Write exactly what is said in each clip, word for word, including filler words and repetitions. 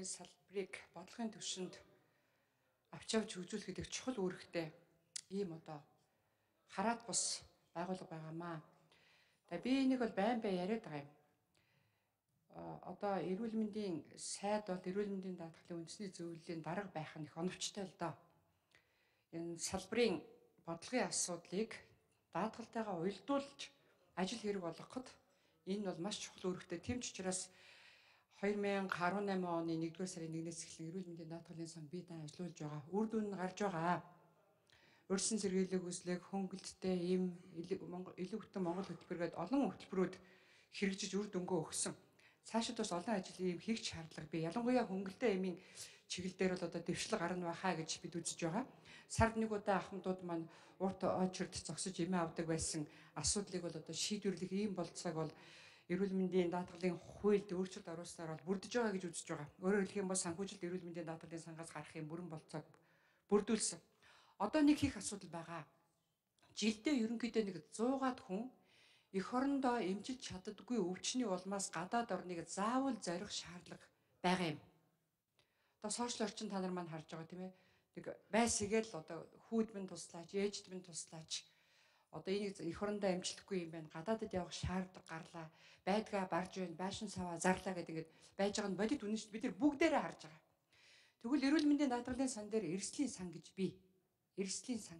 эрүүл мэндийн салбарыг бодлогын түвшинд авч явж хөгжүүлэхэд их чухал үүрэгтэй ийм одоо хараад бус байгууллага байгаамаа. Тэгээ би энийг бол байн бай яриад байгаа юм. Одоо эрүүл мэндийн сайд бол эрүүл мэндийн даатгалын үндэсний зөвлөлийн дарга байх нь их оновчтой л доо. Энэ салбарын бодлогын асуудлыг даатгалтайгаа уялдуулж ажил хэрэг болгоход энэ бол маш чухал үүрэгтэй. Тэм ч учраас хоёр мянга арван найман оны нэгдүгээр сарын нэгнээс эхлэн эрүүл мэндийн даатгалын сан бие даан ажиллаулж байгаа. Үр дүн нь гарч байгаа. Урьдчилан сэргийлэх үзлэг, хөнгөлөлттэй ийм илүү бүтэн Монгол хөтөлбөргээд олон хөтөлбөрүүд хэрэгжиж үр дүнгөө өгсөн. Цаашид бас олон ажил ийм хийх шаардлага бий. Ялангуяа хөнгөлөлттэй эмийн чиглэл дээр бол одоо дэвшлэг гарна байхаа гэж бид үзэж байгаа. Сард нэг удаа ахмадууд маань урт очирд зогсож эмээ авдаг байсан асуудлыг бол одоо шийдвэрлэх ийм болцоог бол эрүүл мэндийн даатгалын хуульд өөрчлөлт оруулснаар бол бүрдэж байгаа гэж үзэж байгаа. Өөрөөр хэлэх юм бол санхүүжилт эрүүл мэндийн даатгалын сангаас гарах юм бүрэн болцоог бүрдүүлсэн. Одоо нэг их асуудал байгаа. Жилдээ ерөнхийдөө нэг зуугаад хүн эх орондоо эмчилж чаддаггүй өвчний улмаас гадаад орныг заавал зорих шаардлага байгаа юм. Одоо сошиал орчин та нар маань харж байгаа тийм ээ. Нэг байсгээл одоо хүүд минь туслаач, ээжд минь туслаач. Одоо энийг эх орондоо эмчлэхгүй юм байна. Гадаадд явах шаардлага гарлаа. Байдгаа барж байна, байшин саваа зарлаа гэдэг ингээд байж байгаа нь бодит үнэн шүү дээ. Бид нар бүгдээрээ харж байгаа. Тэгвэл эрүүл мэндийн даатгалын сан дээр эрсдлийн сан гэж бий. Эрсдлийн сан.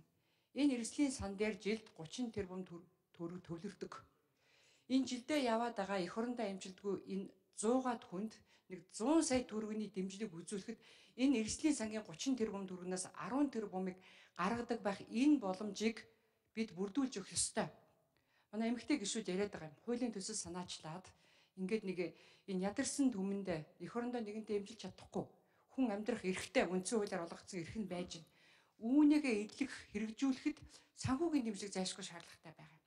Энэ эрсдлийн сан дээр жилд гучин тэрбум төгрөг төвлөрдөг. Энэ жилдээ яваад байгаа эх орондоо эмчилдэггүй энэ зуугаад хүнд нэг зуун сая төгрөгийн дэмжлэг үзүүлэхэд энэ эрсдлийн сангийн гучин тэрбум төгрөгнөөс арван тэрбумыг гаргадаг байх энэ боломжийг бид бүрдүүлж өгөх ёстой. Манай эмэгтэй гишүүд яриад байгаа юм. Хуулийн төсөл санаачлаад ингээд нэг энэ ядарсан түмэнд эх орондоо нэгэнтээ эмчилж чадахгүй хүн амьдрах эрхтэй үндсэн хуулиар олгогдсон эрх нь байж байна. Үүнийгээ эдлэх хэрэгжүүлэхэд санхүүгийн дэмжлэг зайлшгүй шаардлагатай байгаа.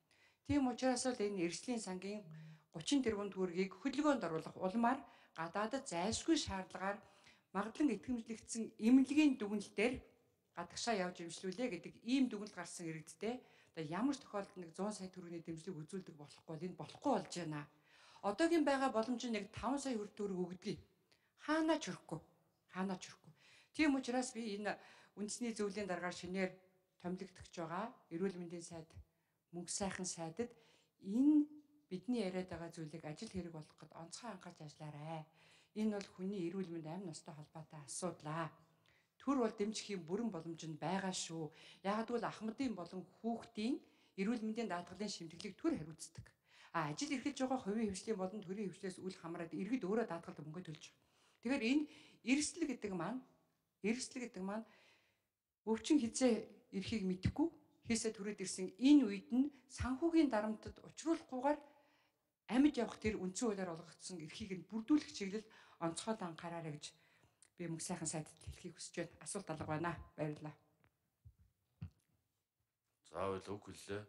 Тийм учраас л энэ эрсдлийн сангийн гучин тэрбум төгрөгийг хөдөлгөөнд оруулах улмаар гадаадд зайлшгүй шаардлагаар магадлан итгэмжлэгдсэн эмнэлгийн дүгнэлтээр гадагшаа явж эмчлүүлээ гэдэг ийм дүгнэлт гарсан иргэдтэй одоо ямар ч тохиолдолд нэг зуун сая төгрөгийн дэмжлэг үзүүлдэг болохгүй бол энэ болохгүй болж байна. Одоогийн байгаа боломж нь нэг таван сая төгрөг өгдөг. Хаанаа ч өрөхгүй. Хаанаа ч өрөхгүй. Тийм учраас би энэ үндэсний зөвлөлийн дараагаар шинээр томилогдож байгаа эрүүл мэндийн сайд мөнгө сайхан сайдад энэ бидний яриад байгаа зүйлийг ажил хэрэг болгоход онцгой анхаарч ажиллаарай. Энэ бол хүний эрүүл мэнд амь ностой холбоотой асуудал. Төр бол дэмжих юм бүрэн боломж нь байгаа шүү. Яагад бол ахмадын болон хүүхдийн эрүүл мэндийн даатгалын шимтгэлийг төр хариуцдаг. А ажил эрхэлж байгаа хувийн хвшлийн болон төрийн хвшлээс үл хамааран иргэд өөрөө даатгалд мөнгө төлж байгаа. Тэгэхээр энэ эрсдэл гэдэг маань эрсдэл гэдэг маань өвчин хизээ эрхийг мэдэхгүй хийсээ төрөөд ирсэн энэ үед нь санхүүгийн дарамтад учруулахгүйгээр амьд явах тэр үндсэн хуулиар олгогдсон эрхийг нь бүрдүүлэх чиглэл онцгой анхаараарай гэж би мөнгө сайхан сайдд хэлхийг хүсэж байна. Асуулт алга байна. Баярлалаа. Заавал үг хэллээ.